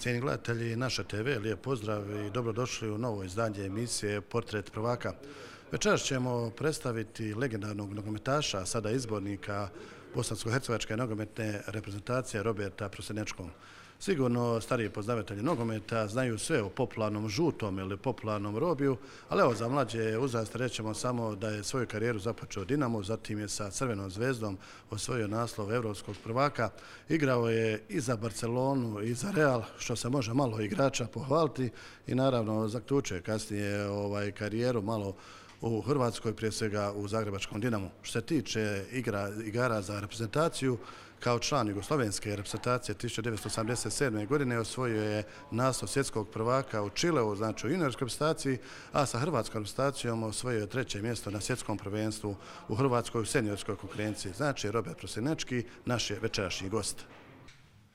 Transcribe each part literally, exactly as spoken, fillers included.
Cijeni gledatelji naše te ve, lijep pozdrav i dobrodošli u novo izdanje emisije Portret prvaka. Večeras ćemo predstaviti legendarnog nogometaša, a sada izbornika bosansko-hercegovačke nogometne reprezentacije Roberta Prosinečkog. Sigurno stariji poznavatelji nogometa znaju sve o popularnom žutom ili popularnom Robiju, ali evo za mlađe uzraste rećemo samo da je svoju karijeru započeo Dinamo, zatim je sa Crvenom zvezdom osvojio naslov evropskog prvaka. Igrao je i za Barcelonu i za Real, što se može malo igrača pohvaliti, i naravno zaključuje kasnije ovaj, karijeru malo u Hrvatskoj, prije svega u zagrebačkom Dinamu. Što se tiče igra, igara za reprezentaciju, kao član jugoslovenske reprezentacije tisuća devetsto osamdeset sedme. godine osvojio je naslov svjetskog prvaka u Čileu, znači u juniorskoj reprezentaciji, a sa hrvatskom reprezentacijom osvojio je treće mjesto na svjetskom prvenstvu u Hrvatskoj u seniorskoj konkurenciji. Znači Robert Prosinečki, naš je večerašnji gost.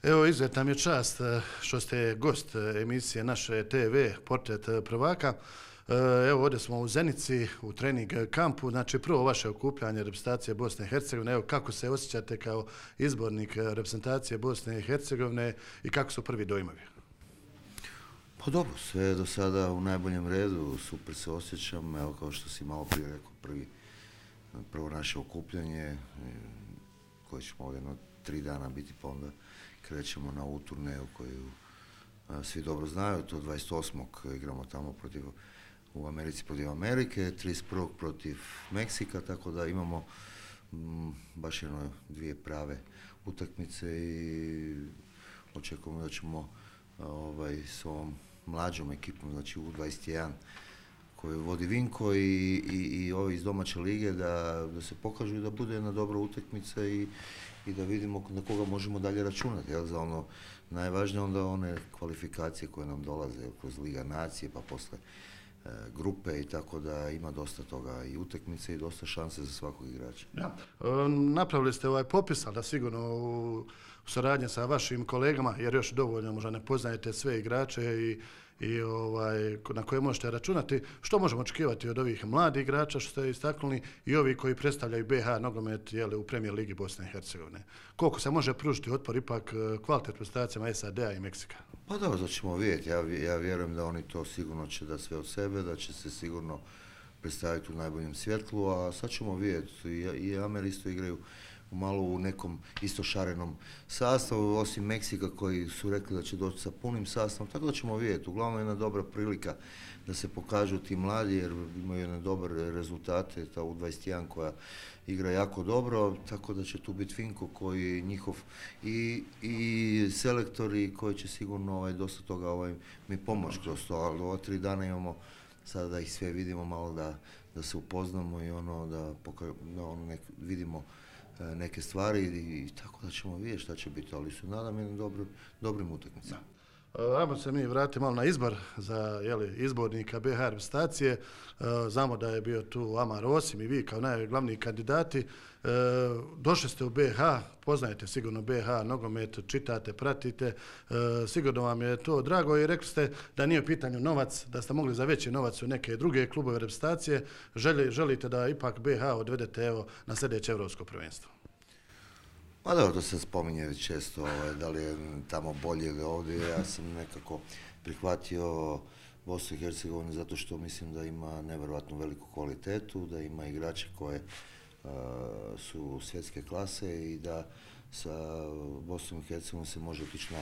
Evo, izuzetna mi je čast što ste gost emisije naše te ve Portret prvaka. Evo, ovdje smo u Zenici, u trening kampu, znači prvo vaše okupljanje reprezentacije Bosne i Hercegovine. Evo, kako se osjećate kao izbornik reprezentacije Bosne i Hercegovine i kako su prvi dojmovi? Pa dobro, sve je do sada u najboljem redu, super se osjećam, evo kao što si malo prije rekao, prvi, prvo naše okupljanje, koje ćemo ovdje jedno tri dana biti, pa onda krećemo na ovu turneju koju a, svi dobro znaju, to dvadeset osmog igramo tamo protiv u Americi protiv Amerike, trideset prvog protiv Meksika, tako da imamo m, baš jedno dvije prave utakmice i očekujemo da ćemo ovaj, s ovom mlađom ekipom, znači u dvadeset jedan koju vodi Vinko i, i, i ovi iz domaće lige da, da se pokažu i da bude jedna dobra utakmica i, i da vidimo na koga možemo dalje računati. Jel, za ono najvažnije onda one kvalifikacije koje nam dolaze kroz Liga nacije pa posle grupe i tako da ima dosta toga i utakmice i dosta šanse za svakog igrača. Ja. E, napravili ste ovaj popis, ali da sigurno u, u saradnji sa vašim kolegama, jer još dovoljno možda ne poznajete sve igrače i, i ovaj, na koje možete računati. Što možemo očekivati od ovih mladih igrača što ste istaknuli i ovi koji predstavljaju be ha nogomet jeli, u Premier ligi Bosne i Hercegovine? Koliko se može pružiti otpor ipak kvalitet reprezentacijama es a de a i Meksika? Pa dobro, da ćemo vidjeti. Ja, ja vjerujem da oni to sigurno će da sve od sebe, da će se sigurno predstaviti u najboljem svjetlu, a sad ćemo vidjeti. I, i Ameri isto igraju malo u nekom isto šarenom sastavu, osim Meksika koji su rekli da će doći sa punim sastavom, tako da ćemo vidjeti. Uglavnom jedna dobra prilika da se pokažu ti mladi jer imaju jedne dobre rezultate, ta u dvadeset jedan koja igra jako dobro, tako da će tu biti Finko koji njihov i, i selektori koji će sigurno ovaj, dosta toga ovaj, mi pomoći kroz to, ali ova tri dana imamo sada da ih sve vidimo malo da, da se upoznamo i ono da, poka- da ono nek, vidimo neke stvari i, i tako da ćemo vidjeti šta će biti, ali su nadam jednim dobro, dobrim utakmicama. Ajmo se mi vratiti malo na izbor za jeli, izbornika be ha reprezentacije. E, znamo da je bio tu Amar Osim i vi kao najglavniji kandidati. E, došli ste u be ha, poznajete sigurno be ha nogomet, čitate, pratite. E, sigurno vam je to drago i rekli ste da nije u pitanju novac, da ste mogli za veći novac u neke druge klubove reprezentacije. Želi, želite da ipak be ha odvedete evo, na sljedeće evropsko prvenstvo? Pa dobro, to se spominje često, ovaj, da li je tamo bolje ili ovdje. Ja sam nekako prihvatio Bosnu i Hercegovinu zato što mislim da ima nevjerojatno veliku kvalitetu, da ima igrače koje uh, su svjetske klase i da sa Bosnom i Hercegovinom se može otići na,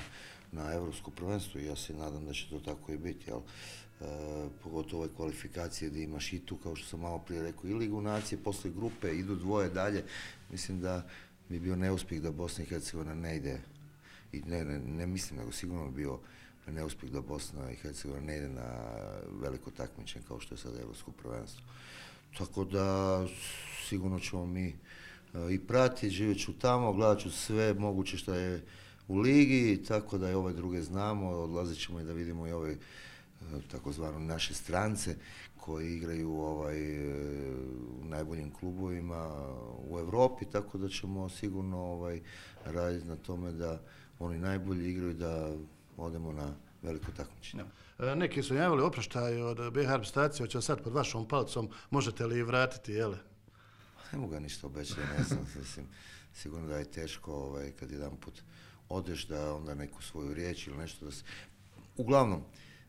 na evropsko prvenstvo i ja se nadam da će to tako i biti. Jel? Uh, pogotovo ove kvalifikacije gdje imaš i tu, kao što sam malo prije rekao, i Ligu nacije, posle grupe idu dvoje dalje. Mislim da bi bio neuspjeh da Bosna i Hercegovina ne ide, i ne, ne, ne mislim, nego sigurno bi bio neuspjeh da Bosna i Hercegovina ne ide na veliko takmičenje kao što je sada evropsko prvenstvo. Tako da sigurno ćemo mi uh, i pratiti, živjet ću tamo, gledat ću sve moguće što je u ligi, tako da i ove druge znamo, odlazit ćemo i da vidimo i ove uh, takozvano naše strance koji igraju ovaj, u najboljim klubovima u Europi, tako da ćemo sigurno ovaj, raditi na tome da oni najbolji igraju da odemo na veliko takmičenje. Ja. Neki su javili oproštaj od be ha reprezentacije, hoće sad pod vašom palcom, možete li vratiti, jele? Ne mogu ga ništa obećati, ne znam, mislim, sigurno da je teško ovaj, kad jedan put odeš da onda neku svoju riječ ili nešto da se... uglavnom,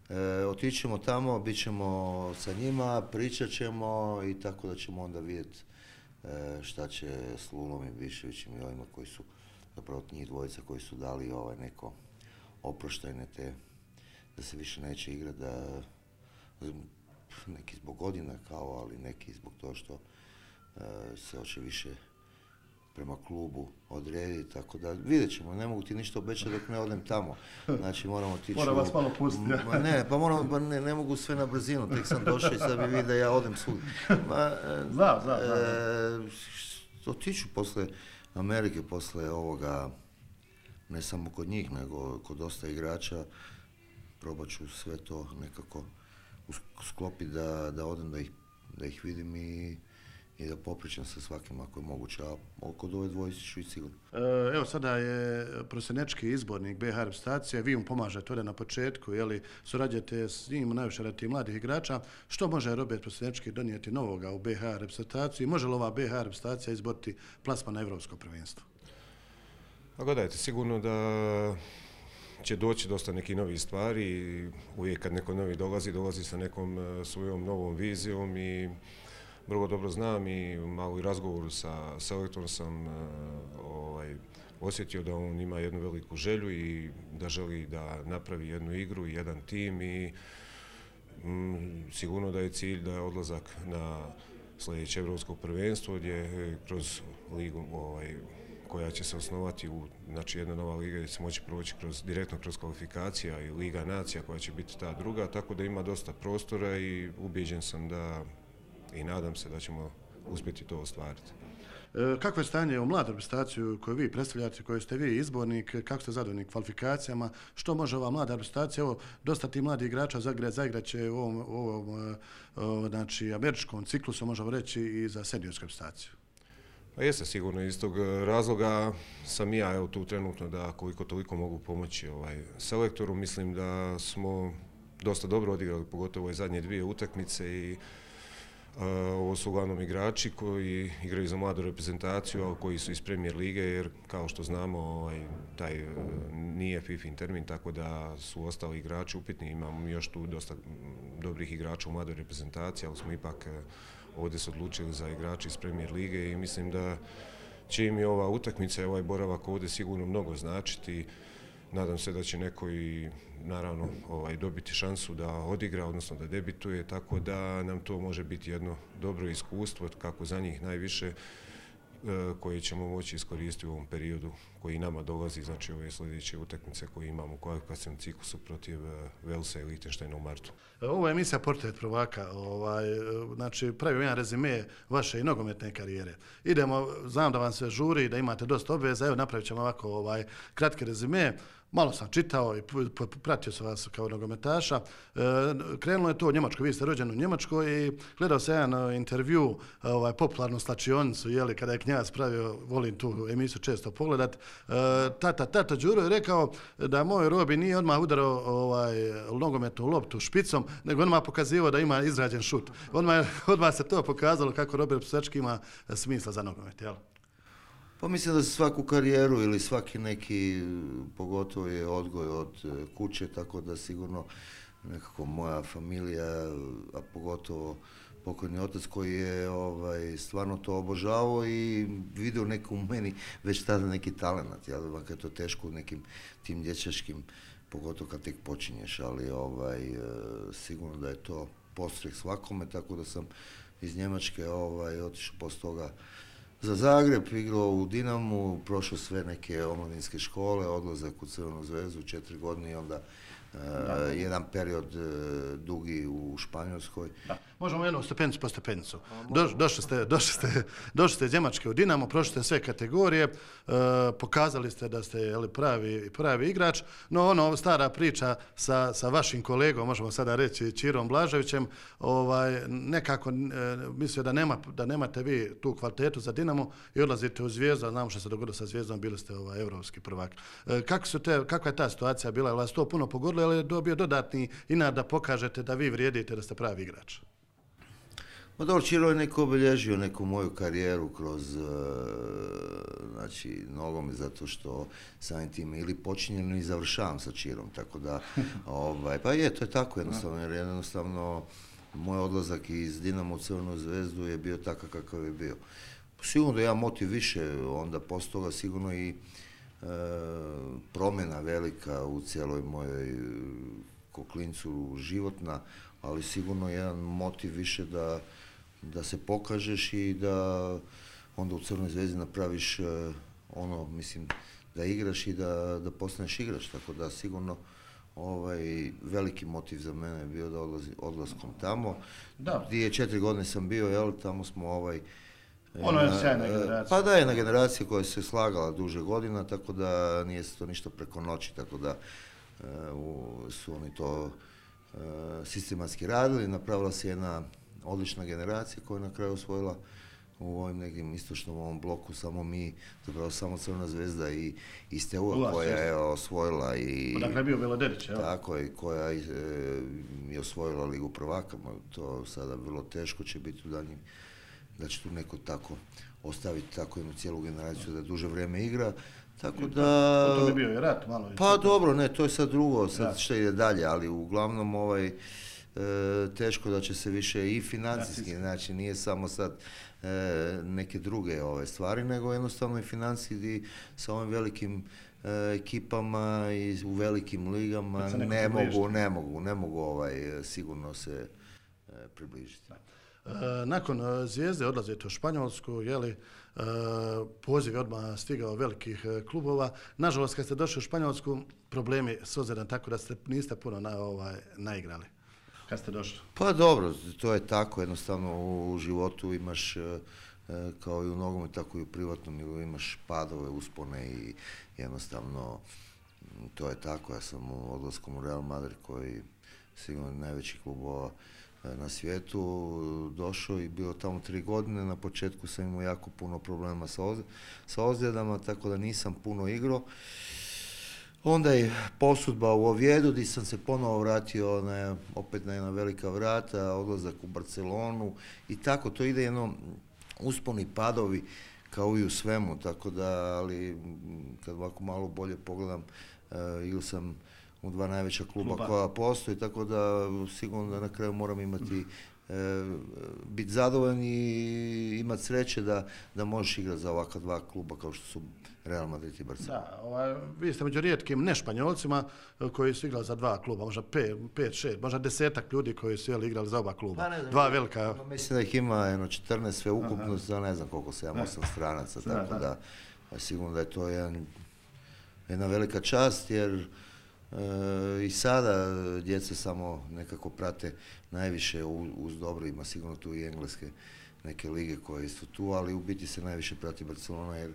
e, otići ćemo tamo, bit ćemo sa njima, pričat ćemo i tako da ćemo onda vidjeti e, šta će s Lunom i Biševićem i ovima koji su, zapravo njih dvojica koji su dali ovaj neko oproštajne te, da se više neće igrati, da neki zbog godina kao, ali neki zbog toga što e, se hoće više prema klubu odrediti, tako da vidjet ćemo, ne mogu ti ništa obećati dok ne odem tamo, znači moramo otići... Mora vas malo pustiti. Ma ne, pa moram, pa ne, ne mogu sve na brzinu, tek sam došao i sad bi vidio da ja odem svud. Ma, Zna, zna, zna. E, otiću posle Amerike, posle ovoga, ne samo kod njih, nego kod dosta igrača, probat ću sve to nekako sklopiti da, da odem, da ih, da ih vidim i, i da popričam sa svakim ako je moguće, a kod ove dvojice ću i sigurno. Evo sada je prosjenečki izbornik be ha reprezentacije, vi mu pomažete ovdje na početku, jeli, surađujete s njim najviše radi mladih igrača. Što može Robert Prosjenečki donijeti novoga u be ha reprezentaciju i može li ova be ha reprezentacija izboriti plasman na evropsko prvenstvo? Pa gledajte, sigurno da će doći dosta nekih novih stvari. Uvijek kad neko novi dolazi, dolazi sa nekom svojom novom vizijom i vrlo dobro znam i malo i razgovoru sa selektorom sam ovaj, osjetio da on ima jednu veliku želju i da želi da napravi jednu igru i jedan tim i mm, sigurno da je cilj da je odlazak na sljedeće evropsko prvenstvo gdje kroz ligu ovaj, koja će se osnovati u, znači jedna nova liga gdje se moći proći kroz, direktno kroz kvalifikacija i Liga nacija koja će biti ta druga, tako da ima dosta prostora i ubijeđen sam da i nadam se da ćemo uspjeti to ostvariti. E, kakvo je stanje u mladu reprezentaciju koju vi predstavljate, koju ste vi izbornik, kako ste zadovoljni kvalifikacijama, što može ova mlada reprezentacija, evo, dosta ti mladi igrača zagrat, zagrat će u ovom, u ovom o, znači, američkom ciklusu, možemo reći, i za seniorsku reprezentaciju? Pa jeste sigurno, iz tog razloga sam i ja evo, tu trenutno da koliko toliko mogu pomoći ovaj, selektoru. Mislim da smo dosta dobro odigrali, pogotovo ove zadnje dvije utakmice i uh, ovo su uglavnom igrači koji igraju za mladu reprezentaciju, ali koji su iz Premier lige, jer kao što znamo ovaj, taj uh, nije fifin termin, tako da su ostali igrači upitni. Imamo još tu dosta dobrih igrača u mladoj reprezentaciji, ali smo ipak uh, ovdje se odlučili za igrače iz Premier lige i mislim da će im i ova utakmica i ovaj boravak ovdje sigurno mnogo značiti. Nadam se da će neko i naravno ovaj, dobiti šansu da odigra, odnosno da debituje, tako da nam to može biti jedno dobro iskustvo, kako za njih najviše, koje ćemo moći iskoristiti u ovom periodu koji nama dolazi, znači ove sljedeće utakmice koje imamo u kvalifikacijskom ciklusu protiv Velsa i Lichtensteina u martu. Ovo je emisija Portret prvaka, ovaj, znači pravim jedan rezime vaše i nogometne karijere. Idemo, znam da vam se žuri, da imate dosta obveza, evo napravit ćemo ovako ovaj, kratki rezime. Malo sam čitao i pratio sam vas kao nogometaša. E, krenulo je to u Njemačkoj, vi ste rođeni u Njemačkoj i gledao sam jedan intervju, ovaj, popularnu slačionicu, jeli, kada je Knjaz pravio, volim tu emisiju često pogledat. E, tata, tata Đuro je rekao da moj Robi nije odmah udarao ovaj, nogometnu loptu špicom, nego odmah pokazivao da ima izrađen šut. Odmah, odmah se to pokazalo kako Robert Prosjenečki ima smisla za nogomet, jel? Pa mislim da se svaku karijeru ili svaki neki, pogotovo je odgoj od kuće, tako da sigurno nekako moja familija, a pogotovo pokojni otac koji je ovaj, stvarno to obožavao i vidio neko u meni već tada neki talent, jel, makar je to teško u nekim tim dječačkim, pogotovo kad tek počinješ, ali ovaj, sigurno da je to podstrek svakome, tako da sam iz Njemačke ovaj, otišao poslije toga za Zagreb, igrao u Dinamu, prošao sve neke omladinske škole, odlazak u Crvenu zvezdu, četiri godine i onda uh, jedan period uh, dugi u Španjolskoj. Da. Možemo jednu stepenicu po stepenicu. Do, došli, ste, došli, ste, došli ste iz Njemačke u Dinamo, prošli ste sve kategorije, uh, pokazali ste da ste jeli, pravi, pravi igrač, no ono stara priča sa, sa vašim kolegom, možemo sada reći Čirom Blaževićem, ovaj, nekako uh, mislio da, nema, da nemate vi tu kvalitetu za Dinamo i odlazite u Zvijezdu, a znamo što se dogodilo sa Zvijezdom, bili ste ovaj, evropski prvak. Uh, kako su te, kakva je ta situacija bila? Je li vas to puno pogodilo ili je dobio dodatni inat da pokažete da vi vrijedite, da ste pravi igrač? Ma dobro, Čiro je neko obilježio neku moju karijeru kroz uh, znači, nogomet, zato što samim tim ili počinjem ili završavam sa Čirom, tako da, ovaj, pa je, to je tako jednostavno, jer jednostavno moj odlazak iz Dinamo u Crvenu zvezdu je bio takav kakav je bio. Sigurno da ja motiv više, onda posto toga sigurno i e, promjena velika u cijeloj mojoj ko klincu životna, ali sigurno jedan motiv više da, da se pokažeš i da onda u Crvenoj zvezdi napraviš e, ono, mislim, da igraš i da, da postaneš igrač, tako da sigurno ovaj, veliki motiv za mene je bio da odlazi, odlaskom tamo. Da. Dvije, četiri godine sam bio, jel, tamo smo ovaj, ono je sjajna generacija. Pa da, jedna generacija koja se slagala duže godina, tako da nije se to ništa preko noći, tako da uh, su oni to uh, sistematski radili. Napravila se jedna odlična generacija koja je na kraju osvojila u ovim nekim istočnom ovom bloku samo mi, zapravo samo Crvena zvezda i, i Steaua koja je osvojila i... Odakle je bio Beloderić, evo. Tako je, koja je, je osvojila Ligu prvaka, to sada vrlo teško će biti u daljnjim, da će tu neko tako ostaviti tako jednu cijelu generaciju da duže vrijeme igra, tako da... To bi bio i rat malo. Pa dobro, ne, to je sad drugo, sad što ide dalje, ali uglavnom ovaj, e, teško da će se više i financijski, znači nije samo sad e, neke druge ove stvari, nego jednostavno i financijski sa ovim velikim e, ekipama i u velikim ligama ne mogu, ne mogu, ne mogu ovaj, sigurno se e, približiti. Nakon Zvijezde odlazite u Španjolsku, jeli, poziv je odmah stigao velikih klubova. Nažalost, kad ste došli u Španjolsku, problemi s ozljedom, tako da ste, niste puno na, ovaj, naigrali. Kad ste došli? Pa dobro, to je tako, jednostavno u životu imaš, kao i u nogometu, tako i u privatnom, imaš padove, uspone i jednostavno to je tako. Ja sam u odlaskom u Real Madrid, koji sigurno najveći klubova na svijetu, došao i bio tamo tri godine. Na početku sam imao jako puno problema sa, oz, sa ozljedama, tako da nisam puno igrao. Onda je posudba u Ovjedu, gdje sam se ponovo vratio na, opet na jedna velika vrata, odlazak u Barcelonu i tako, to ide jedno usponi padovi kao i u svemu, tako da, ali kad ovako malo bolje pogledam, uh, ili sam u dva najveća kluba, kluba koja postoji, tako da sigurno da na kraju moram imati, e, biti zadovoljan i imati sreće da, da možeš igrati za ovakva dva kluba kao što su Real Madrid i Barcelona. Da, ovaj, vi ste među rijetkim ne Španjolcima koji su igrali za dva kluba, možda pet, pet šest, možda desetak ljudi koji su jeli, igrali za oba kluba. Pa ne znam, dva velika. Mislim da ih ima jedno četrnaest sve ukupno, za ne znam koliko, sedam osam stranaca, tako da, da, da sigurno da je to jedan, jedna velika čast, jer E, i sada djeca samo nekako prate najviše uz dobro, ima sigurno tu i engleske neke lige koje su tu, ali u biti se najviše prati Barcelona jer,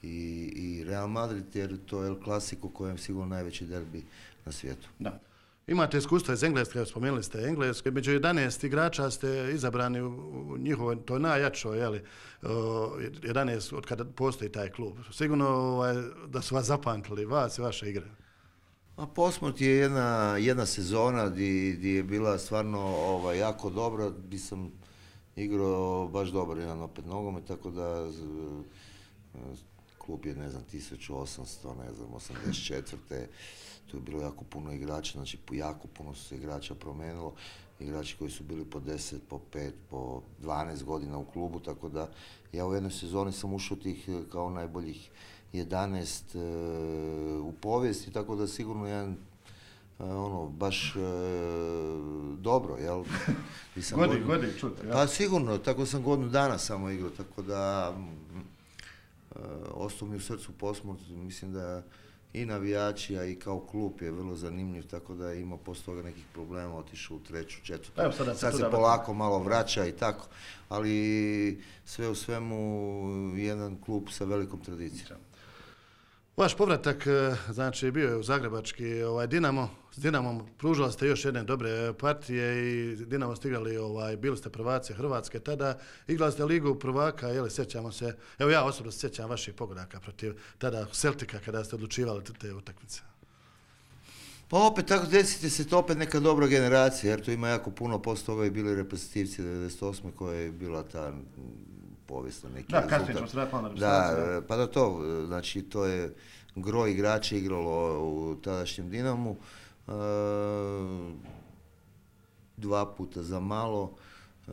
i, i Real Madrid, jer to je El Clasico kojem sigurno najveći derbi na svijetu. Da. Imate iskustva iz Engleske, spomenuli ste Englesku, među jedanaest igrača ste izabrani u njihovoj, to je najjačoj, jeli, jedanaest od kada postoji taj klub. Sigurno ovaj, da su vas zapamtili, vas i vaše igre. A Portsmouth je jedna, jedna sezona gdje je bila stvarno ovaj, jako dobra, gdje sam igrao baš dobar jedan opet nogomet, tako da klub je, ne znam, tisuću osamsto, ne znam, osamdeset četvrte. Tu je bilo jako puno igrača, znači jako puno su se igrača promijenilo, igrači koji su bili po deset, po pet, po dvanaest godina u klubu, tako da ja u jednoj sezoni sam ušao tih kao najboljih jedanaest e, u povijesti, tako da sigurno jedan e, ono, baš e, dobro, jel? Godi, godi, čuti, ja. Pa sigurno, tako sam godinu dana samo igrao, tako da e, ostao mi u srcu Portsmouth, mislim da i navijači, a i kao klub je vrlo zanimljiv, tako da je imao poslije toga nekih problema, otišao u treću, četvrtu, evo, sada sad se polako malo vraća i tako, ali sve u svemu jedan klub sa velikom tradicijom. Vaš povratak, znači, bio je u zagrebački ovaj, Dinamo. S Dinamom pružali ste još jedne dobre partije i Dinamo ste igrali, ovaj, bili ste prvaci Hrvatske tada, igrali ste Ligu prvaka, jeli, sjećamo se, evo ja osobno se sjećam vaših pogodaka protiv tada Celtica kada ste odlučivali te utakmice. Pa opet tako desite se to opet neka dobra generacija, jer tu ima jako puno, posto toga i bili reprezentativci devedeset osme koja je bila ta povijesna neki da, rezultat. kasnije ćemo se raditi malo na Da, pa da to, znači to je gro igrača igralo u tadašnjem Dinamu, e, dva puta za malo, e,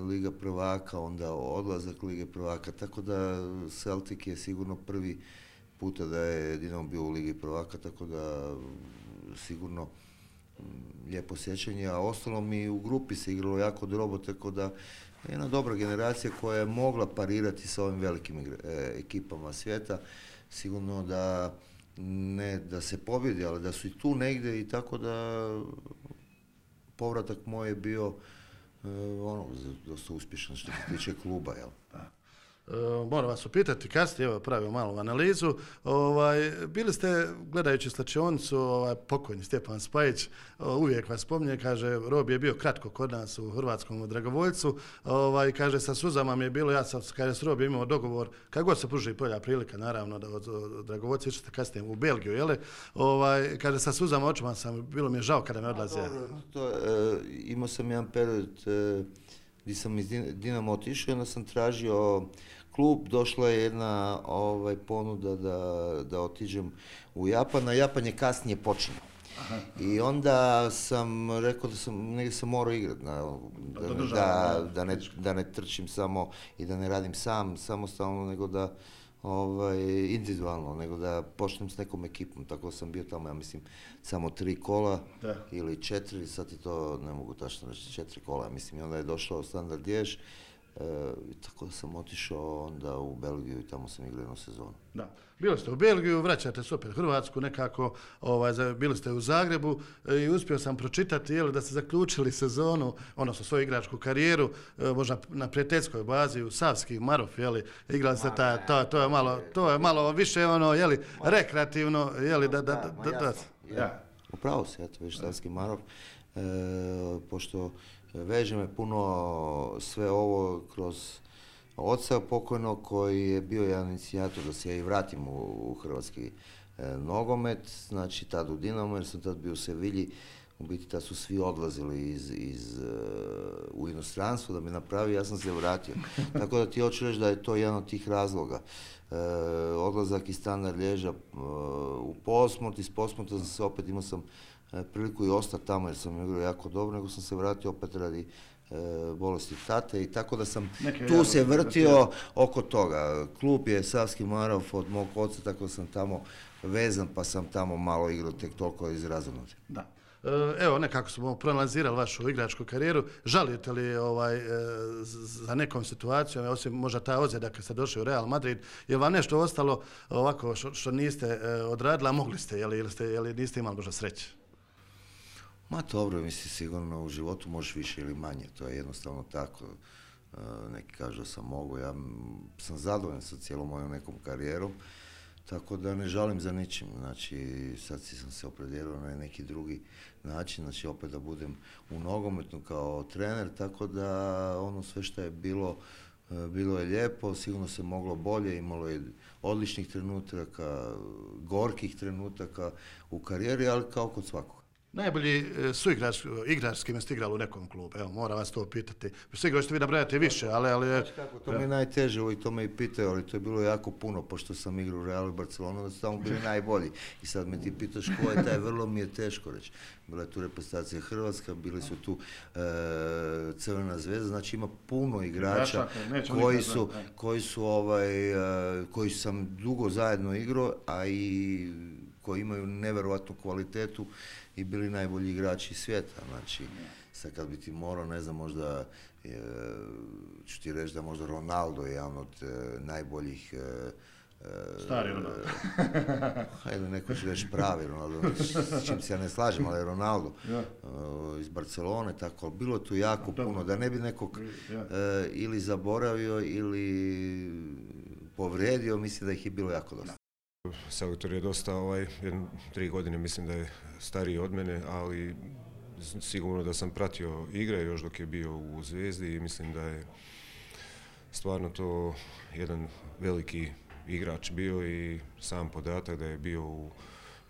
Liga prvaka, onda odlazak Lige prvaka, tako da Celtic je sigurno prvi puta da je Dinamo bio u Ligi prvaka, tako da sigurno lijepo sjećanje, a ostalo mi u grupi se igralo jako dobro, tako da jedna dobra generacija koja je mogla parirati sa ovim velikim igra, e, ekipama svijeta, sigurno da ne da se pobjedi, ali da su i tu negdje i tako da povratak moj je bio e, ono, dosta uspješan što se tiče kluba, jel? Da. E, moram vas upitati kasnije, evo pravimo malu analizu, ovaj, bili ste gledajući slačionicu, ovaj, pokojni Stjepan Spajić, uvijek vas spominje, kaže, Robi je bio kratko kod nas u hrvatskom dragovoljcu, ovaj, kaže, sa suzama mi je bilo, ja sam, kaže, s Robi imao dogovor, kako god se pruži bolja prilika, naravno, da od, od dragovoljca išli ste kasnije u Belgiju, jeli, ovaj, kaže, sa suzama očima sam, bilo mi je žao kada me odlaze. To, e, imao sam jedan period e, gdje sam iz Dinamo otišao i onda sam tražio klub, došla je jedna ovaj, ponuda da, da otiđem u Japan, a Japan je kasnije počinio. Aha. I onda sam rekao da sam, negdje sam morao igrati, da, da, da, da, ne, da ne trčim samo i da ne radim sam, samostalno, nego da ovaj, individualno, nego da počnem s nekom ekipom, tako sam bio tamo, ja mislim, samo tri kola da. Ili četiri, sad i to ne mogu tačno reći, četiri kola, mislim, i onda je došao Standard Liège, e, tako da sam otišao onda u Belgiju i tamo sam igrao jednu sezonu. Da. Bili ste u Belgiju, vraćate se opet u Hrvatsku, nekako, ovaj, bili ste u Zagrebu i uspio sam pročitati jel, da ste zaključili sezonu, odnosno svoju igračku karijeru, možda na prijateljskoj bazi u Savski Marof, jeli, igrali ste ta, to, to je malo, to je malo više ono, jeli, rekreativno, jeli, da, da, da, da, da. Ja. Upravo se, eto, viš Savski Marof, e, pošto veže me puno sve ovo kroz oca pokojnog koji je bio jedan inicijator da se ja i vratim u, u hrvatski e, nogomet, znači tad u Dinamo, jer sam tad bio u Sevilji, u biti tad su svi odlazili iz, iz, uh, u inostranstvo da mi napravi, ja sam se vratio. Tako da ti hoću reći da je to jedan od tih razloga. E, odlazak iz Standard Liègea uh, u Portsmouth, iz Portsmoutha sam se opet, imao sam uh, priliku i ostati tamo jer sam igrao jako dobro, nego sam se vratio opet radi bolesti tate i tako da sam Neke tu se vrtio oko toga. Klub je Savski Marof od mog oca, tako da sam tamo vezan, pa sam tamo malo igrao tek toliko iz razumnosti. Da. Evo, nekako smo proanalizirali vašu igračku karijeru. Žalite li ovaj, za nekom situacijom, osim možda ta ozljeda kad ste došli u Real Madrid, je vam nešto ostalo ovako što, što niste odradili, a mogli ste, jeli, ili, ste, jeli niste imali možda sreće? Ma dobro, mislim, sigurno u životu možeš više ili manje, to je jednostavno tako. Neki kažu da sam mogu, ja sam zadovoljan sa cijelom mojom nekom karijerom, tako da ne žalim za ničim, znači sad si sam se opredijelio na neki drugi način, znači opet da budem u nogometu kao trener, tako da ono sve što je bilo, bilo je lijepo, sigurno se moglo bolje, imalo je odličnih trenutaka, gorkih trenutaka u karijeri, ali kao kod svakog. Najbolji su igrač, igrač s kime ste igrali u nekom klubu, evo, moram vas to pitati. Sve igrač ste vi nabrajate više, ali... ali znači kako, to mi je najteže, i to me i pitaju, ali to je bilo jako puno, pošto sam igrao u Realu i Barcelonu, da su tamo bili najbolji. I sad me ti pitaš ko je taj, vrlo mi je teško reći. Bila je tu reprezentacija Hrvatska, bili su tu e, Crvena zvezda, znači ima puno igrača koji su, koji su ovaj, e, koji sam dugo zajedno igrao, a i koji imaju neverovatnu kvalitetu i bili najbolji igrači svijeta, znači sad kad bi ti morao, ne znam, možda e, ću ti reći da možda Ronaldo je jedan od e, najboljih e, stari Ronaldo. Hajde, neko će reći pravi Ronaldo, s čim se ja ne slažem, ali Ronaldo ja. uh, iz Barcelone, tako, bilo tu jako Dobro. puno, da ne bi nekog ja. uh, ili zaboravio ili povrijedio, mislim da ih je bilo jako dosta. Selektor je dosta, ovaj, jedno, tri godine mislim da je stariji od mene, ali sigurno da sam pratio igre još dok je bio u Zvijezdi i mislim da je stvarno to jedan veliki igrač bio i sam podatak da je bio u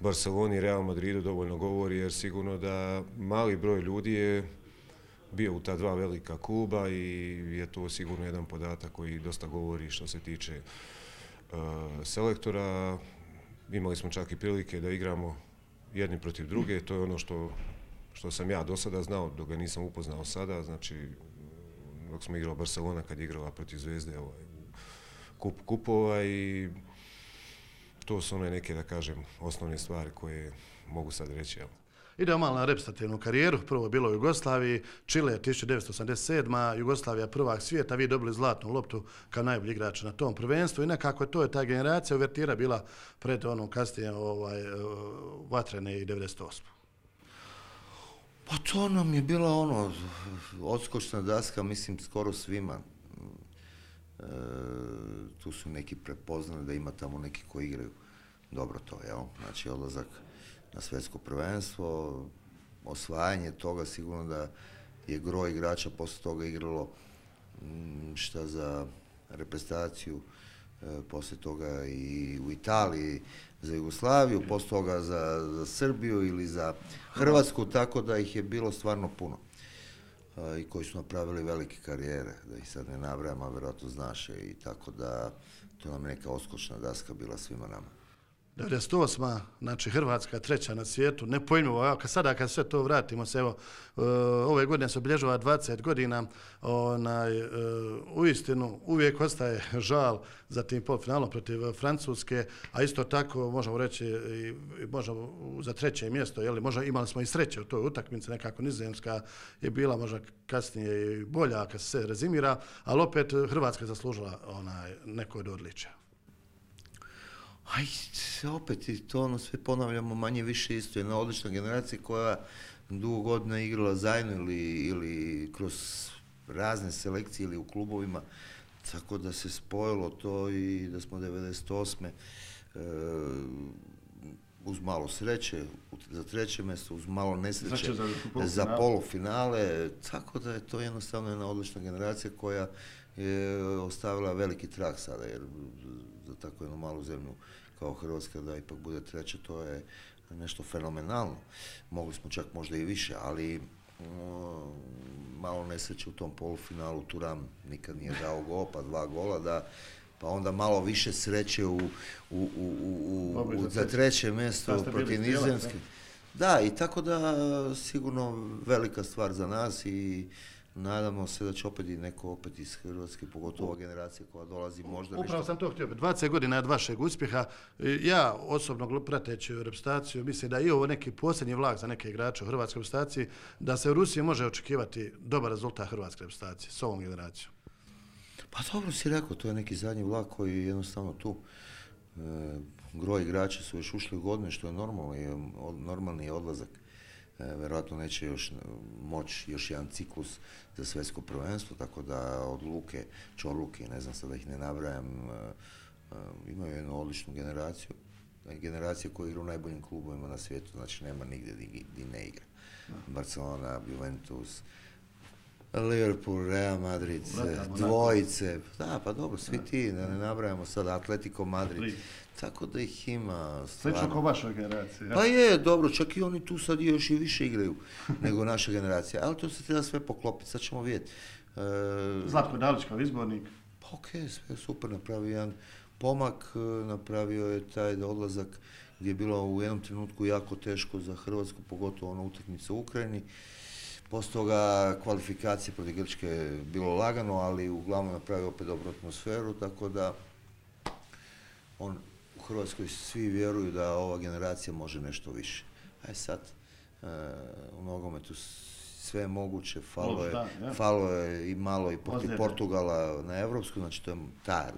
Barceloni i Real Madridu dovoljno govori, jer sigurno da mali broj ljudi je bio u ta dva velika kluba i je to sigurno jedan podatak koji dosta govori što se tiče uh, selektora. Imali smo čak i prilike da igramo jedni protiv druge, to je ono što, što sam ja do sada znao, dok ga nisam upoznao sada, znači dok smo igrali Barcelona kad je igrala protiv Zvezde ovaj, kup kupova i to su one neke, da kažem, osnovne stvari koje mogu sad reći. Evo. Idemo malo na reprezentativnu karijeru. Prvo je bilo u Jugoslaviji, Čile tisuću devetsto osamdeset sedma. Jugoslavija prvak svijeta, vi dobili zlatnu loptu kao najbolji igrač na tom prvenstvu i nekako to je ta generacija uvertira bila pred onom kasnije ovaj, vatrene i devedeset osme. Pa to nam je bila ono, odskočna daska, mislim, skoro svima. E, tu su neki prepoznali da ima tamo neki koji igraju dobro to, jel? Znači odlazak na svjetsko prvenstvo, osvajanje toga, sigurno da je gro igrača poslije toga igralo šta za reprezentaciju, e, poslije toga i u Italiji za Jugoslaviju, poslije toga za, za Srbiju ili za Hrvatsku, tako da ih je bilo stvarno puno. E, I koji su napravili velike karijere, da ih sad ne nabrajam, a vjerojatno znaš, i tako da to nam je neka odskočna daska bila svima nama. devedeset osma. Znači Hrvatska treća na svijetu, nepojmljivo, evo, sada kad sve to vratimo se, evo, ove godine se obilježava dvadeset godina, onaj, uistinu uvijek ostaje žal za tim polufinalom protiv Francuske, a isto tako možemo reći i možemo za treće mjesto, jeli, možda imali smo i sreće u toj utakmici, nekako Nizozemska je bila možda kasnije i bolja kad se rezimira, ali opet Hrvatska je zaslužila onaj, neko od odličja. Aj, opet i to ono sve ponavljamo manje više isto. Jedna odlična generacija koja dugo godina igrala zajedno ili, ili kroz razne selekcije ili u klubovima, tako da se spojilo to i da smo devedeset osme. E, uz malo sreće za treće mjesto, uz malo nesreće za, za polufinale, tako da je to jednostavno jedna odlična generacija koja je ostavila veliki trag sada, jer za tako jednu malu zemlju kao Hrvatska da ipak bude treća, to je nešto fenomenalno. Mogli smo čak možda i više, ali no, malo nesreće u tom polufinalu, Turam nikad nije dao gol, pa dva gola, da, pa onda malo više sreće u, u, u, u, u, u za treće mjesto protiv Nizozemske. Da, i tako da sigurno velika stvar za nas i nadamo se da će opet i neko opet iz Hrvatske, pogotovo ova generacija koja dolazi možda nešto. Upravo sam to htio. dvadeset godina od vašeg uspjeha. Ja osobno prateći reprezentaciju mislim da je ovo neki posljednji vlak za neke igrače u hrvatskoj reprezentaciji, da se u Rusiji može očekivati dobar rezultat hrvatske reprezentacije s ovom generacijom. Pa dobro si rekao, to je neki zadnji vlak koji je jednostavno tu. E, gro igrača su još ušli u godine, što je normalno, je normalni odlazak. E, vjerojatno neće još moći još jedan ciklus za svjetsko prvenstvo, tako da od Luke, Čorluke, ne znam sad da ih ne nabrajam, e, e, imaju jednu odličnu generaciju. Generacija koja igra u najboljim klubovima na svijetu, znači nema nigdje gdje ne igra. Barcelona, Juventus, Liverpool, Real Madrid, dvojice, da, pa dobro, svi ti, da ne nabrajamo sad, Atletico Madrid, tako da ih ima stvarno. Slično kao vašoj generaciji. Ja? Pa je, dobro, čak i oni tu sad još i više igraju nego naša generacija, ali to se treba sve poklopiti, sad ćemo vidjeti. E, Zlatko Dalić kao izbornik. Pa okej, okay, sve super, napravio jedan pomak, napravio je taj odlazak gdje je bilo u jednom trenutku jako teško za Hrvatsku, pogotovo ona utakmica u Ukrajini. Poslije toga kvalifikacije protiv Grčke je bilo lagano, ali uglavnom napravio opet dobru atmosferu, tako da on u Hrvatskoj svi vjeruju da ova generacija može nešto više. Aj sad, e, u nogometu sve je moguće, falo je, falo je i malo i protiv Portugala na evropsku, znači to je ta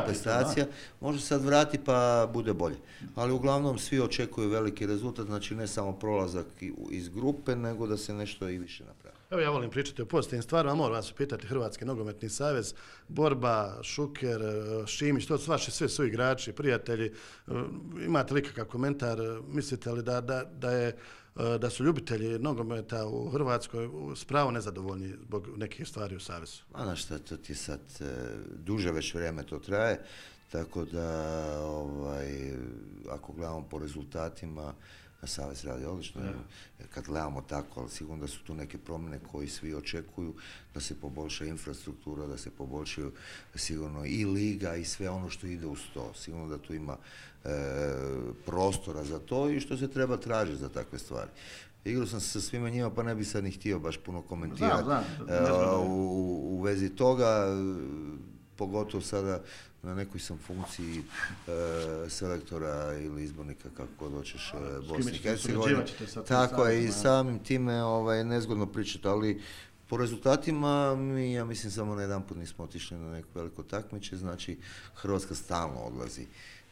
prestacija. Može sad vrati pa bude bolje. Ali uglavnom svi očekuju veliki rezultat, znači ne samo prolazak iz grupe, nego da se nešto i više napravi. Evo ja volim pričati o pozitivnim stvarima, moram vas pitati Hrvatski nogometni savez, Borba, Šuker, Šimić, to su vaši svi su igrači, prijatelji. Imate li kakav komentar, mislite li da, da, da je da su ljubitelji nogometa u Hrvatskoj spravo nezadovoljni zbog nekih stvari u savezu? A znaš šta, to ti sad duže već vrijeme to traje. tako da ovaj, ako gledamo po rezultatima, Savez radi odlično, jer kad gledamo tako, ali sigurno da su tu neke promjene koje svi očekuju, da se poboljša infrastruktura, da se poboljšaju sigurno i liga i sve ono što ide uz to. Sigurno da tu ima e, prostora za to i što se treba tražiti za takve stvari. Igrao sam se sa svima njima, pa ne bi sad ni htio baš puno komentirati znam, znam. u, u vezi toga, pogotovo sada na nekoj sam funkciji e, selektora ili izbornika, kako god hoćeš, e, Bosne i Hercegovine. Tako je, i samim time ovaj, nezgodno pričati, ali po rezultatima mi, ja mislim, samo na jedan put nismo otišli na neko veliko takmiče, znači Hrvatska stalno odlazi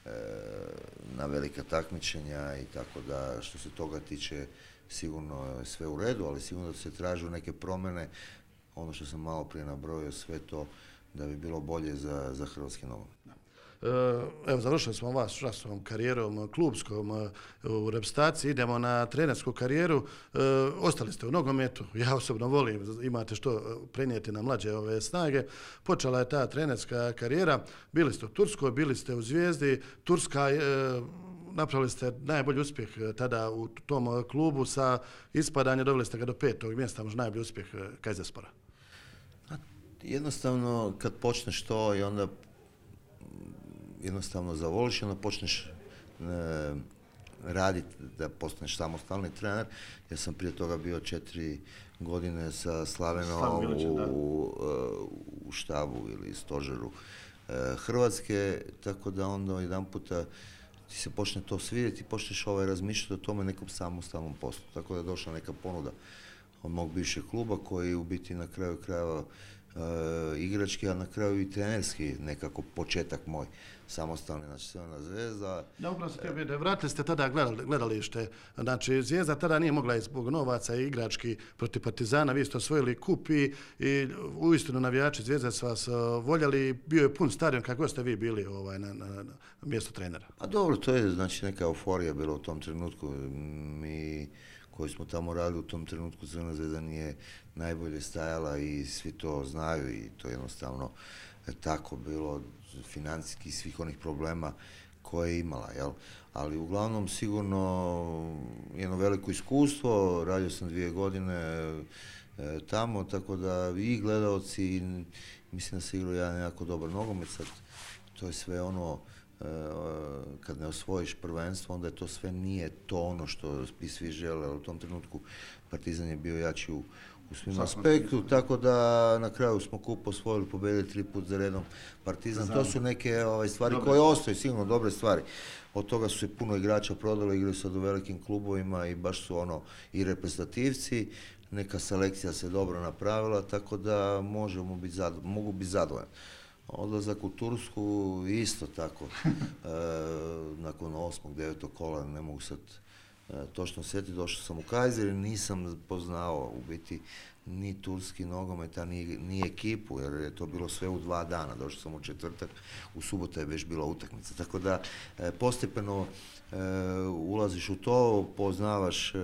e, na velika takmičenja i tako da što se toga tiče sigurno je sve u redu, ali sigurno da se tražu neke promjene, ono što sam malo prije nabrojio, sve to da bi bilo bolje za, za hrvatski nogomet. Evo, završili smo vas časnom karijerom klubskom u reprezentaciji, idemo na trenersku karijeru. E, ostali ste u nogometu, ja osobno volim, imate što prenijeti na mlađe ove snage. Počela je ta trenerska karijera, bili ste u Turskoj, bili ste u Zvijezdi, Turska e, napravili ste najbolji uspjeh tada u tom klubu sa ispadanje, doveli ste ga do petog mjesta, možda najbolji uspjeh Kajzerspora. Jednostavno, kad počneš to i onda jednostavno zavoliš i onda počneš e, raditi da postaneš samostalni trener. Ja sam prije toga bio četiri godine sa Slavenom u, u, u štabu ili stožeru e, Hrvatske, tako da onda jedan puta ti se počne to svidjeti i počneš ovaj, razmišljati o tome nekom samostalnom poslu. Tako da je došla neka ponuda od mog bivšeg kluba koji u biti na kraju krajeva Uh, igrački, a na kraju i trenerski nekako početak moj samostalni, znači Crvena Zvezda. Ja upravo se tebi, vratili ste tada gledali, gledalište, znači Zvijezda tada nije mogla zbog novaca i igrački protiv Partizana, vi ste osvojili kup i, i uistinu navijači Zvijezde su vas uh, voljeli, bio je pun stadion kako ste vi bili ovaj, na, na, na mjestu trenera. Pa dobro, to je znači neka euforija bila u tom trenutku. Mi koji smo tamo radili u tom trenutku, Crvena Zvezda nije najbolje stajala i svi to znaju i to je jednostavno tako bilo, financijski svih onih problema koje je imala, jel? Ali uglavnom sigurno jedno veliko iskustvo, radio sam dvije godine e, tamo, tako da i gledalci, mislim da se igrao jedan jako dobar nogomet, sad to je sve ono, kad ne osvojiš prvenstvo, onda je to sve nije to ono što bi svi žele. U tom trenutku Partizan je bio jači u, u svim aspektu, tako da na kraju smo kup osvojili, pobedili tri put za redom Partizan. To su neke ovaj, stvari dobre koje ostaju, sigurno dobre stvari. Od toga su se puno igrača prodalo, igrali sad u velikim klubovima i baš su ono i reprezentativci. Neka selekcija se dobro napravila, tako da možemo biti zadovoljni, mogu biti zadovoljni. Odlazak u Tursku isto tako, e, nakon osmog, devetog kola, ne mogu sad e, točno sjetiti, došao sam u Kajzer i nisam poznao u biti ni turski nogomet, a ni, ni ekipu, jer je to bilo sve u dva dana, došao sam u četvrtak, u subotu je već bila utakmica, tako da e, postepeno e, ulaziš u to, poznavaš e,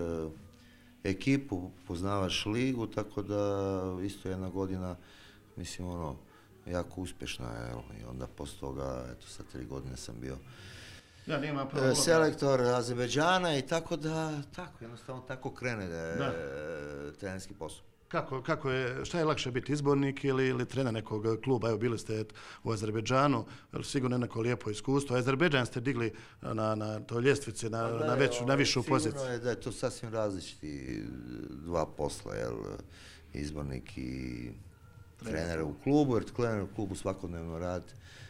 ekipu, poznavaš ligu, tako da isto jedna godina, mislim ono, jako uspješna je, i onda poslije toga, eto sad tri godine sam bio ja, nema e, selektor Azerbejdžana i tako da, tako, jednostavno tako krene da je trenerski posao. Kako, kako je, šta je lakše biti, izbornik ili, ili trener nekog kluba? Evo, bili ste u Azerbejdžanu, sigurno neko lijepo iskustvo. Azerbejdžan ste digli na, na toj ljestvici, na, da, na, veću, na višu poziciju. Sigurno je da je to sasvim različiti dva posla, jel, izbornik i trenera u klubu, jer trener u klubu svakodnevno rad,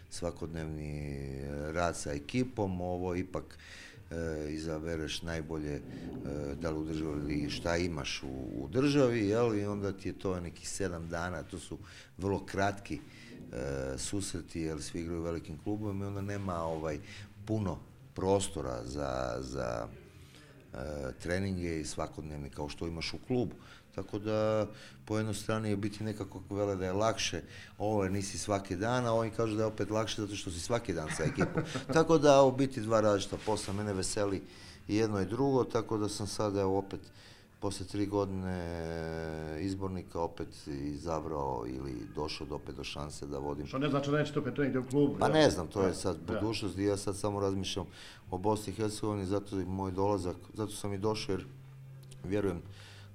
svakodnevni rad sa ekipom, ovo ipak e, izabereš najbolje e, da li u državi, šta imaš u, u državi, jel, i onda ti je to nekih sedam dana, to su vrlo kratki e, susreti, jer svi igraju u velikim klubovima i onda nema ovaj puno prostora za, za e, treninge i svakodnevni kao što imaš u klubu. Tako da po jednoj strani je biti nekako vele da je lakše, ovo nisi svaki dan, a oni kažu da je opet lakše zato što si svaki dan sa ekipom. Tako da u biti dva različita posla, mene veseli i jedno i drugo, tako da sam sada opet poslije tri godine izbornika opet izabrao ili došao do opet do šanse da vodim. Što ne znači da nećete opet negdje u klubu? Pa ja? ne znam, to je Ja. sad budućnost i ja sad samo razmišljam o Bosni i Hercegovini, zato i moj dolazak, zato sam i došao jer vjerujem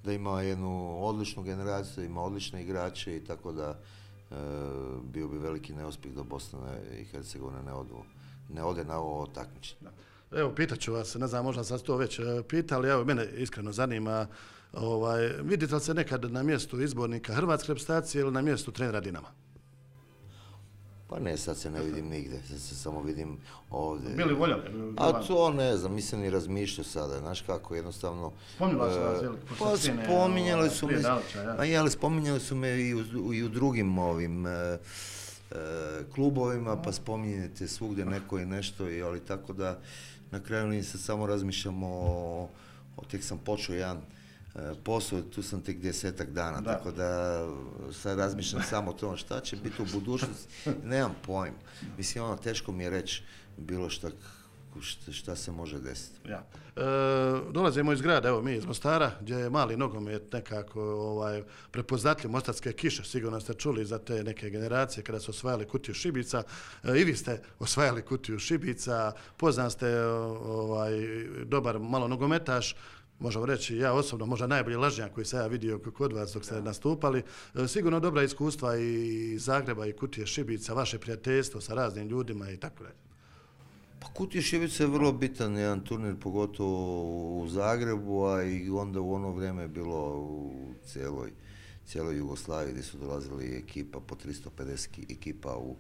da ima jednu odličnu generaciju, ima odlične igrače i tako da e, bio bi veliki neuspjeh da Bosna i Hercegovina ne, odu, ne ode na ovo takmičenje. Evo, pitat ću vas, ne znam, možda sam to već e, pitali, evo, mene iskreno zanima, ovaj, vidite li se nekad na mjestu izbornika hrvatske reprezentacije ili na mjestu trenera Dinama? Pa ne, sad se ne vidim nigdje, sad se samo vidim ovdje. Bili voljeli? A to ne znam, nisam ni razmišljao sada, znaš kako, jednostavno... Spominjala su vas, e, jel? Pa spominjali su me, Ja. a je, ali spominjali su me i u, i u drugim ovim e, e, klubovima, pa spominjete svugdje neko i nešto, i, ali tako da na kraju nisam samo razmišljam o, o tek sam počeo jedan posao, tu sam tek desetak dana, Da. tako da sad razmišljam samo o tome šta će biti u budućnosti, nemam pojma. Mislim, ono, teško mi je reći bilo šta, šta, šta se može desiti. Ja. E, dolazimo iz grada, evo mi iz Mostara, gdje je mali nogomet nekako ovaj, prepoznatljiv, mostarske kiše, sigurno ste čuli za te neke generacije kada su osvajali kutiju šibica. E, I vi ste osvajali kutiju šibica, poznat ste ovaj, dobar malo nogometaš, možemo reći, ja osobno, možda najbolji lažnjak koji sam ja vidio kod vas dok ste nastupali. E, sigurno dobra iskustva i Zagreba i kutije šibica, vaše prijateljstvo sa raznim ljudima i tako dalje. Pa Kutija Šibica je vrlo bitan jedan turnir, pogotovo u Zagrebu, a i onda u ono vrijeme je bilo u cijeloj, cijeloj Jugoslaviji gdje su dolazili ekipa, po tristo pedeset ekipa u,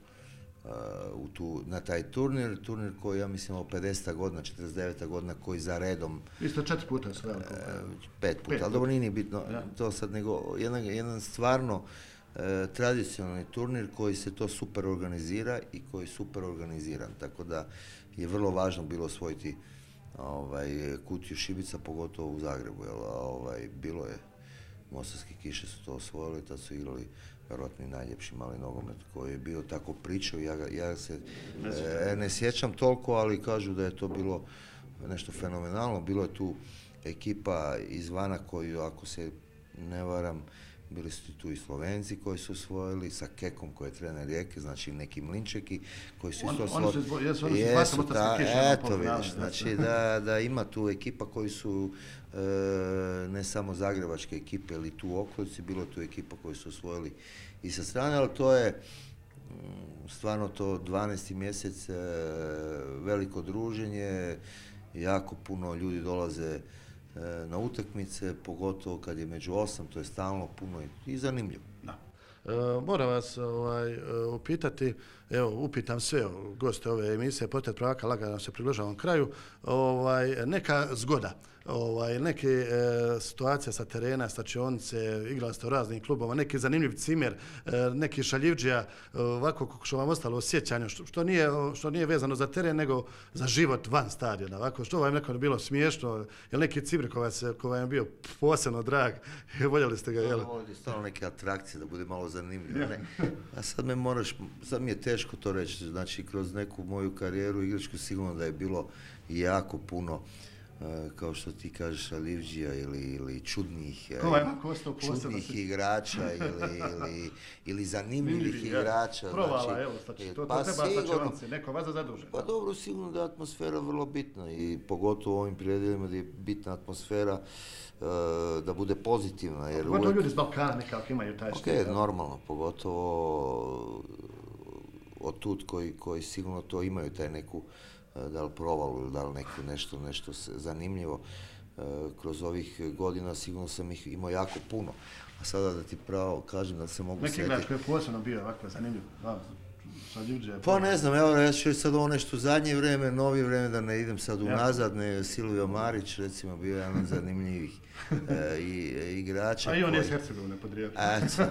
uh, u tu, na taj turnir. Turnir koji, ja mislim, o pedeseta godina, četrdeset deveta godina, koji za redom... Vi ste četiri puta osvajali. Uh, pet puta, Pet ali dobro, nije ni bitno Ja. to sad, nego jedan, jedan stvarno E, tradicionalni turnir koji se to super organizira i koji je super organiziran, tako da je vrlo važno bilo osvojiti ovaj, Kutiju Šibica, pogotovo u Zagrebu, jer ovaj, bilo je, mostarske kiše su to osvojili, tad su igrali vjerojatno i najljepši mali nogomet koji je bio tako pričao, ja, ga- ja se e, ne sjećam toliko, ali kažu da je to bilo nešto fenomenalno, bilo je tu ekipa izvana koju, ako se ne varam, bili su tu i Slovenci koji su osvojili, sa Kekom koji je trener Rijeke, znači neki Mlinčeki koji su On- isto oni su izbo- jesu, oni su baš mostarske kiše na eto polufinalu, vidiš, jesu. znači da, da ima tu ekipa koji su e, ne samo zagrebačke ekipe ili tu u okolici, bilo je tu ekipa koji su osvojili i sa strane, ali to je mm, stvarno to dvanaesti mjesec, e, veliko druženje, jako puno ljudi dolaze na utakmice, pogotovo kad je među osam, to je stalno puno i, i zanimljivo. Da. E, moram vas ovaj, e, upitati, evo, upitam sve goste ove emisije, Portret prvaka, lagano se približavam kraju, ovaj, neka zgoda, ovaj, neke e, situacije sa terena, stačionice, igrali ste u raznim klubova, neki zanimljiv cimer, e, neki šaljivđija, e, ovako što vam ostalo u sjećanju, što, što, nije, što nije vezano za teren, nego za život van stadiona, ovako, što vam nekako bilo smiješno, jel neki cimer koji vas je- koji vam je bio posebno drag, voljeli ste ga, jel? Ovdje stalno neke atrakcije da bude malo zanimljivo. Ne? A sad me moraš, sad mi je teško to reći, znači kroz neku moju karijeru igračku sigurno da je bilo jako puno, e, kao što ti kažeš, šaljivđija ili, ili čudnih, e, Ko vam je ovako ostao posebno čudnih sjećanje? igrača ili, ili, ili zanimljivih Zanimljivi, ja. igrača. Provala, znači, evo, znači, e, to, to pa treba sigurno. stačionice, neko vas zadužen. Pa dobro, sigurno da je atmosfera vrlo bitna i pogotovo u ovim predjelima gdje je bitna atmosfera, e, da bude pozitivna. Jer Pogotovo uvijek- ljudi iz Balkana nekako imaju taj Ok, štit. normalno, pogotovo od tud koji, koji sigurno to imaju, taj neku, e, da li provalu ili da li neku nešto, nešto se- zanimljivo. E, Kroz ovih godina sigurno sam ih imao jako puno. A sada da ti pravo kažem da se mogu Neki igrač sjetiti. koji je posebno bio ovako zanimljiv. Da, šaljivđija je Pa ne znam, evo ja ću reći sad ovo nešto zadnje vrijeme, novi vrijeme, da ne idem sad Ja. unazad, ne, Silvio Marić recimo bio jedan od zanimljivih e, i, igrača. A i on je iz koji- Hercegovine podrijetlo. Eto, e,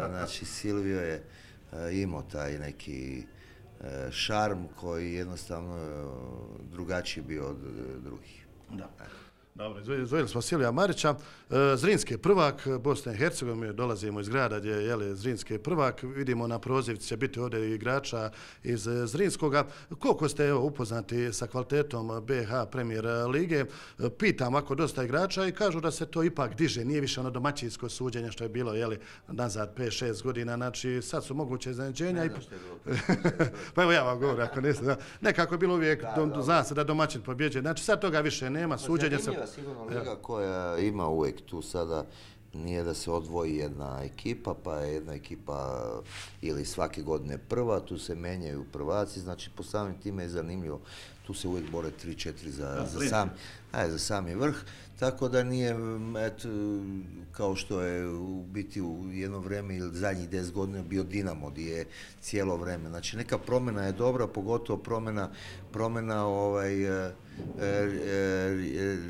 znači Silvio je e, imao taj neki e, šarm koji jednostavno e, drugačiji bio od e, drugih. Da. Dobro, izdvojili smo Silija Marića. Zrinski je prvak Bosne i Hercegovine, dolazimo iz grada gdje je Zrinski je prvak. Vidimo na prozivci će biti ovdje igrača iz Zrinskoga. Koliko ste evo, upoznati sa kvalitetom B H Premier lige? Pitam ako dosta igrača i kažu da se to ipak diže. Nije više ono domaćinsko suđenje što je bilo jeli, nazad pet šest godina. Znači sad su moguće iznenađenja. I... pa evo ja vam govorim ako niste. Da. Nekako je bilo uvijek, da, do, zna se da domaćin pobjeđuje. Znači sad toga više nema. Suđenje se... Sigurno liga koja ima uvijek tu sada, nije da se odvoji jedna ekipa, pa je jedna ekipa ili svake godine prva, tu se menjaju prvaci, znači po samim time je zanimljivo, tu se uvijek bore tri četiri za, za, sam, aj, za sami vrh, tako da nije et, kao što je u biti u jedno vrijeme ili zadnjih deset godina bio Dinamo gdje je cijelo vrijeme, znači neka promjena je dobra, pogotovo promjena, promjena ovaj, e, e,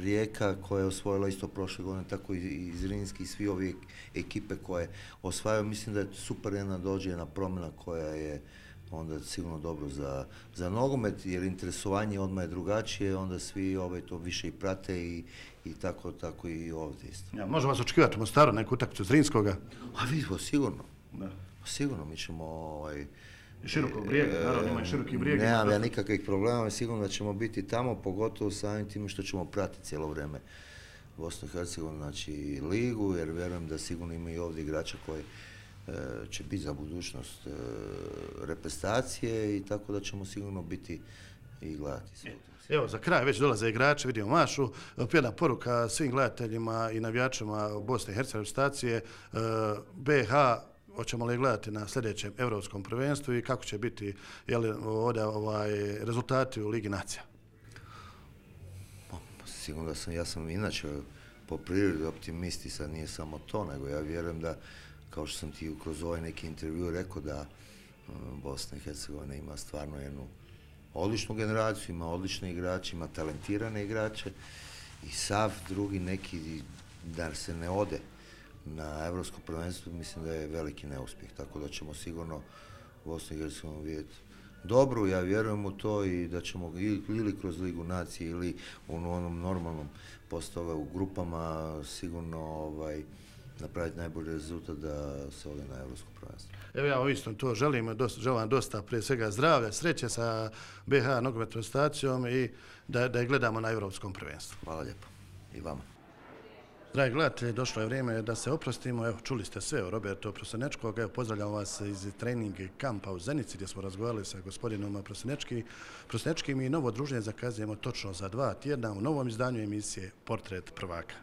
Rijeka koja je osvojila isto prošle godine, tako i Zrinski i svi ovi ekipe koje osvajaju, mislim da je super jedna dođe jedna promjena koja je onda sigurno dobro za, za nogomet, jer interesovanje odmah je drugačije, onda svi ovaj, to više i prate i, i tako, tako i ovdje isto. Ja, možemo vas očekivati u Mostaru neku utakmicu Zrinskoga? A vidimo, sigurno. Da. Sigurno, mi ćemo... Ovaj, širokog brijega, e, naravno ima i široki brijeg. Nemam ja nikakvih problema, sigurno da ćemo biti tamo, pogotovo samim tim što ćemo pratiti cijelo vrijeme Bosnu i Hercegovinu, znači ligu, jer vjerujem da sigurno ima i ovdje igrača koji će biti za budućnost e, reprezentacije i tako da ćemo sigurno biti i gledati sve. Evo, za kraj već dolaze igrači, vidimo Mašu, jedna poruka svim gledateljima i navijačima Bosne i Hercegovine reprezentacije, e, B H, hoćemo li gledati na sljedećem Evropskom prvenstvu i kako će biti jeli, ovdje ovaj, rezultati u Ligi nacija? Sigurno da sam, ja sam inače po prirodi optimist i sad nije samo to, nego ja vjerujem da kao što sam ti kroz ovaj neki intervju rekao da Bosna i Hercegovina ima stvarno jednu odličnu generaciju, ima odlične igrače, ima talentirane igrače i sav drugi neki da se ne ode na Evropsko prvenstvo, mislim da je veliki neuspjeh, tako da ćemo sigurno Bosnu i Hercegovinu vidjeti dobru, ja vjerujem u to i da ćemo ili kroz Ligu nacije ili u onom normalnom postove u grupama sigurno ovaj, napraviti najbolji rezultat da se ode na Evropsko prvenstvo. Evo ja isto to želim, dosta, želim dosta prije svega zdravlja, sreće sa B H nogometnom reprezentacijom i da, da je gledamo na Evropskom prvenstvu. Hvala lijepo. I vama. Dragi gledatelji, došlo je vrijeme da se oprostimo. Evo, čuli ste sve o Robertu Prosinečkog. Evo, pozdravljam vas iz trening kampa u Zenici gdje smo razgovarali sa gospodinom Prosinečkim i novo druženje zakazujemo točno za dva tjedna u novom izdanju emisije Portret prvaka.